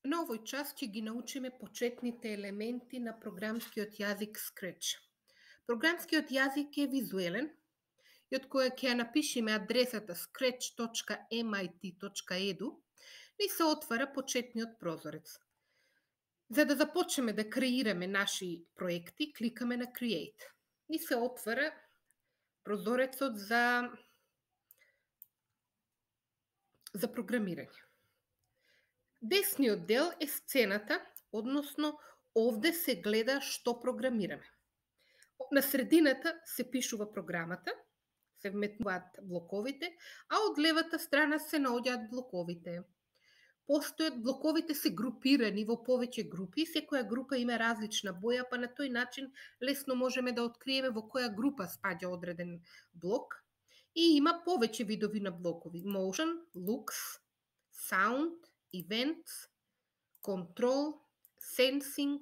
На овој час ќе ги научиме почетните елементи на програмскиот јазик Scratch. Програмскиот јазик е визуелен и од која ќе ја напишеме адресата scratch.mit.edu ни се отвара почетниот прозорец. За да започнеме да креираме наши проекти, кликаме на Create. Ни се отвара прозорецот за програмирање. Десниот дел е сцената, односно овде се гледа што програмираме. На средината се пишува програмата, се вметнуваат блоковите, а од левата страна се наоѓаат блоковите. Блоковите се групирани во повеќе групи, секоја група има различна боја, па на тој начин лесно можеме да откриеме во која група спаѓа одреден блок. И има повеќе видови на блокови: Motion, Looks, Sound, Events, Control, Sensing,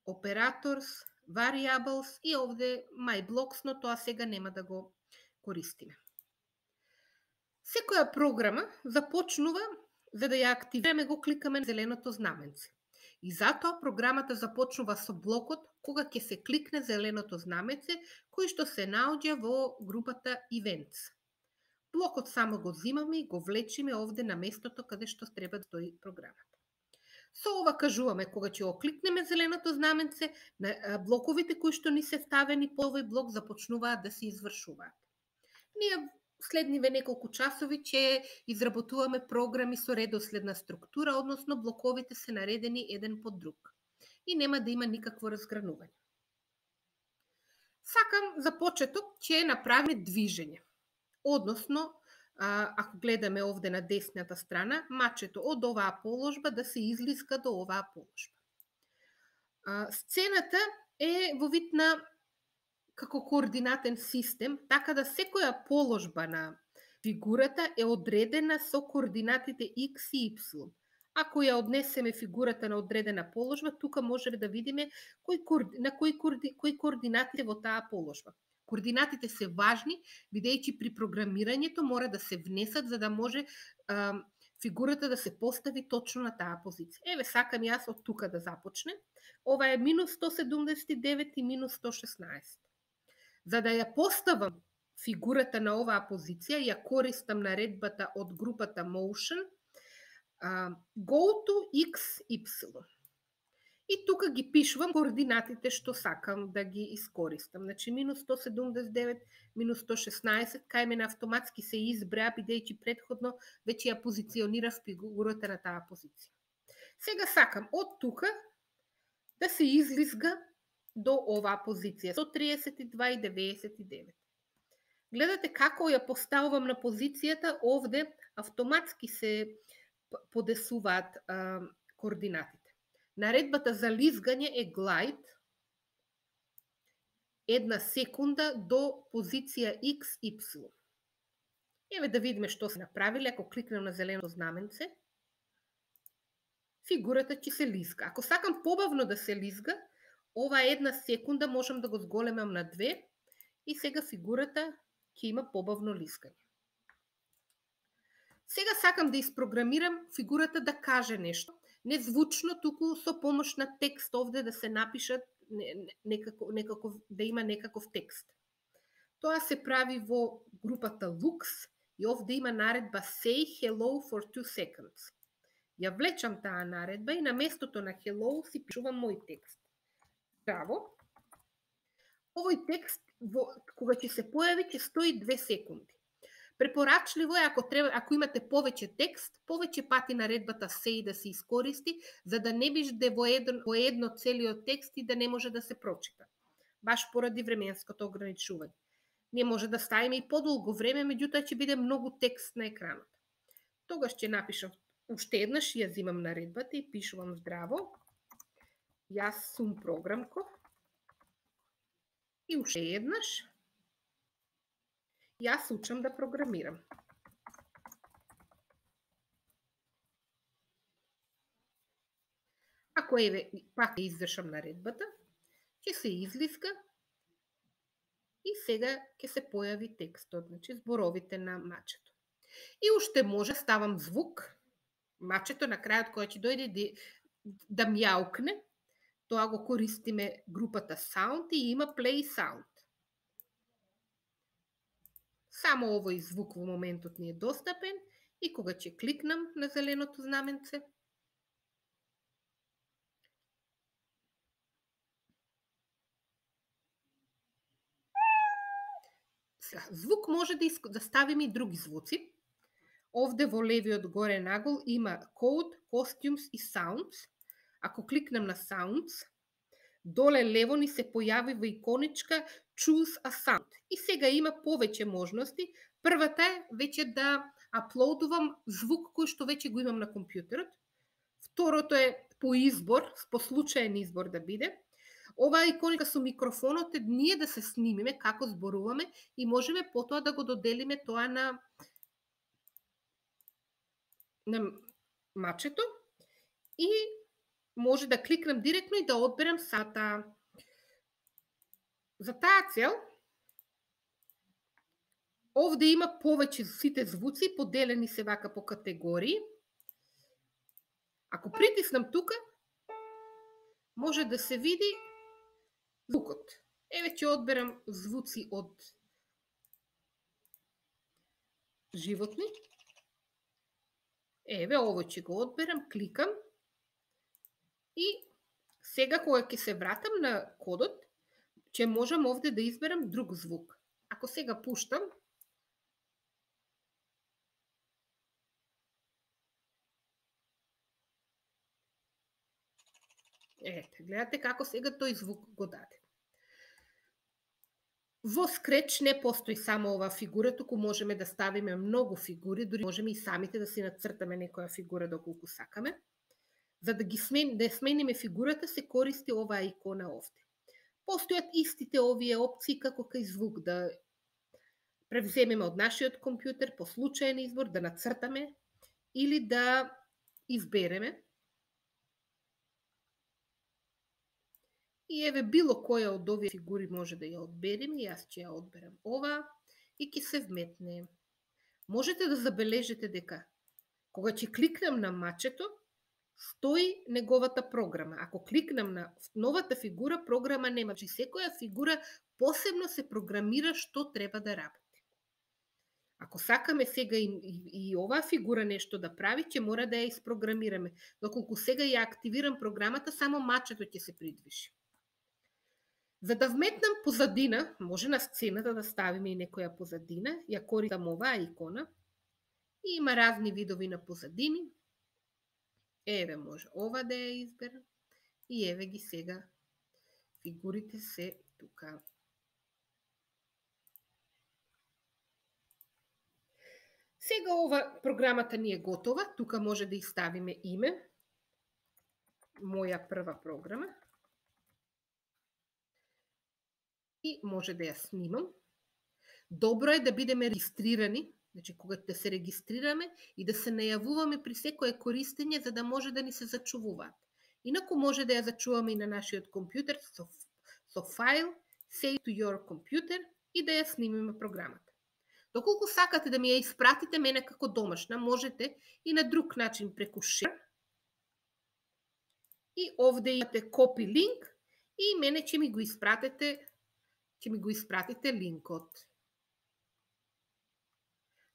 Operators, Variables и овде My Blocks, но тоа сега нема да го користиме. Секоја програма започнува, за да ја активираме, го кликаме на зеленото знаменце. И затоа програмата започнува со блокот кога ќе се кликне зеленото знаменце, кој што се наоѓа во групата Events. Блокот само го зимаме и го влечиме овде на местото каде што треба да стои програмата. Со ова кажуваме кога ќе го кликнеме зеленото знаменце, блоковите кои што ни се ставени по овој блок започнуваат да се извршуваат. Ние следниве неколку часови ќе изработуваме програми со редоследна структура, односно блоковите се наредени еден под друг и нема да има никакво разгранување. Сакам за почеток ќе направиме движење. Односно, ако гледаме овде на десната страна, мачето од оваа положба да се излиска до оваа положба. Сцената е во вид на како координатен систем, така да секоја положба на фигурата е одредена со координатите X и Y. Ако ја однесеме фигурата на одредена положба, тука можеме да видиме кои координати во таа положба. Координатите се важни, бидејќи при програмирањето мора да се внесат за да може фигурата да се постави точно на таа позиција. Еве, сакам јас од тука да започнем. Ова е -179 и -116. За да ја поставам фигурата на оваа позиција, ја користам наредбата од групата Motion, Go to X, Y. И тука ги пишувам координатите што сакам да ги искористам. Значи, -179, -116, кај мене автоматски се избреа, бидејќи претходно веќе ја позиционирав фигурата на таа позиција. Сега сакам од тука да се излизга до оваа позиција, 132 и 99. Гледате како ја поставувам на позицијата, овде автоматски се подесуваат координатите. Наредбата за лизгање е glide 1 секунда до позиција X, Y. Еве да видиме што се направиле. Ако кликнем на зеленото знаменце, фигурата ќе се лизга. Ако сакам побавно да се лизга, ова 1 секунда можам да го зголемам на 2 и сега фигурата ќе има побавно лизгање. Сега сакам да испрограмирам фигурата да каже нешто. Не звучно, туку со помош на текст овде да се напишат да има некаков текст. Тоа се прави во групата Looks и овде има наредба Say hello for 2 seconds. Ја влечам таа наредба и на местото на hello си пишувам мој текст. Здраво. Овој текст кога ќе се појави ќе стои 2 секунди. Препорачливо е ако имате повеќе текст, повеќе пати наредбата Say да се искористи, за да не биде во едно целиот текст и да не може да се прочита. Баш поради временското ограничување. Не може да ставиме и подолго време, меѓутоа ќе биде многу текст на екранот. Тогаш ќе напишам уште еднаш, ја зимам наредбата и пишувам здраво. Јас сум програмко. И уште еднаш. Јас учам да програмирам. Ако еве пак ја извршам наредбата, ќе се излиска и сега ќе се појави текстот, значи зборовите на мачето. И уште може ставам звук Мачето на крајот кога ќе дојде да мјаукне, тоа го користиме групата sound и има play sound. Само овој звук во моментот ни е достапен и кога ќе кликнам на зеленото знаменце, звук може да ставиме и други звуци. Овде во левиот горе нагол има Code, Costumes и Sounds. Ако кликнам на Sounds, доле лево ни се појавива иконичка Choose a Sound. И сега има повеќе можности. Првата е веќе да аплоудувам звук кој што веќе го имам на компјутерот. Второто е по избор, по случаен избор да биде. Оваа иконика со микрофонот е ние да се снимиме како зборуваме и можеме потоа да го доделиме тоа на мачето и може да кликнам директно и да одберам сата. За таа цел, овде има повеќе сите звуци, поделени се вака по категории. Ако притиснам тука, може да се види звукот. Еве ќе одберам звуци од животни. Еве, овој ќе го одберам, кликам и сега кога ќе се вратам на кодот, ќе можам овде да изберам друг звук. Ако сега пуштам, ете, гледате како сега тој звук го даде. Во Scratch не постои само оваа фигура, туку можеме да ставиме многу фигури, дури можеме и самите да си нацртаме некоја фигура доколку сакаме. За да да смениме фигурата се користи оваа икона овде. Постојат истите овие опции како кај звук, да превземеме од нашиот компјутер по случаен избор, да нацртаме или да избереме. И еве било која од овие фигури може да ја одбереме, јас ќе ја одберам ова и ќе се вметне. Можете да забележите дека кога ќе кликнам на мачето, стои неговата програма. Ако кликнам на новата фигура, програма нема. Че секоја фигура посебно се програмира што треба да работи. Ако сакаме сега и оваа фигура нешто да прави, ќе мора да ја испрограмираме. Доколку сега ја активирам програмата, само мачето ќе се придвижи. За да вметнам позадина, може на сцената да ставиме и некоја позадина, ја користам оваа икона. И има разни видови на позадини. Еве може ова да ја изберам. И еве ги сега фигурите се тука. Сега ова програмата ни е готова. Тука може да ја ставиме име. Моја прва програма. И може да ја снимам. Добро е да бидеме регистрирани, значи кога да се регистрираме и да се најавуваме при секое користење за да може да ни се зачувуваат. Инаку може да ја зачуваме и на нашиот компјутер со файл Save to your computer и да ја снимиме програмата. Доколку сакате да ми ја испратите мене како домашна, можете и на друг начин преку Share. И овде имате Copy link и мене ќе ми го испратите линкот.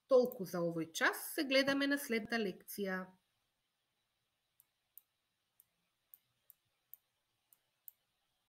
Толку за овој час, се гледаме на следната лекција.